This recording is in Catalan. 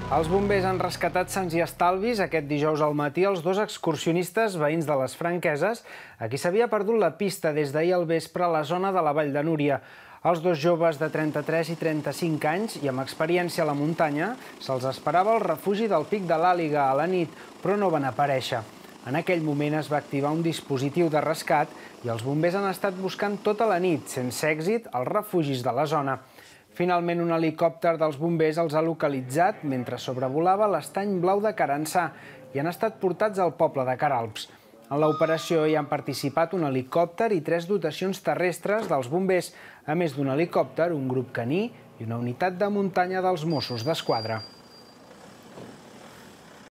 Els bombers han rescatat sans i estalvis aquest dijous al matí els dos excursionistes veïns de les Franqueses, a qui s'havia perdut la pista des d'ahir al vespre a la zona de la Vall de Núria. Els dos joves de 33 i 35 anys i amb experiència a la muntanya se'ls esperava al refugi del Pic de l'Àliga a la nit, però no van aparèixer. En aquell moment es va activar un dispositiu de rescat i els bombers han estat buscant tota la nit, sense èxit, els refugis de la zona. Finalment, un helicòpter dels bombers els ha localitzat mentre sobrevolava l'estany blau de Carançà i han estat portats al poble de Caralps. En l'operació hi han participat un helicòpter i 3 dotacions terrestres dels bombers, a més d'un helicòpter, un grup caní i una unitat de muntanya dels Mossos d'Esquadra.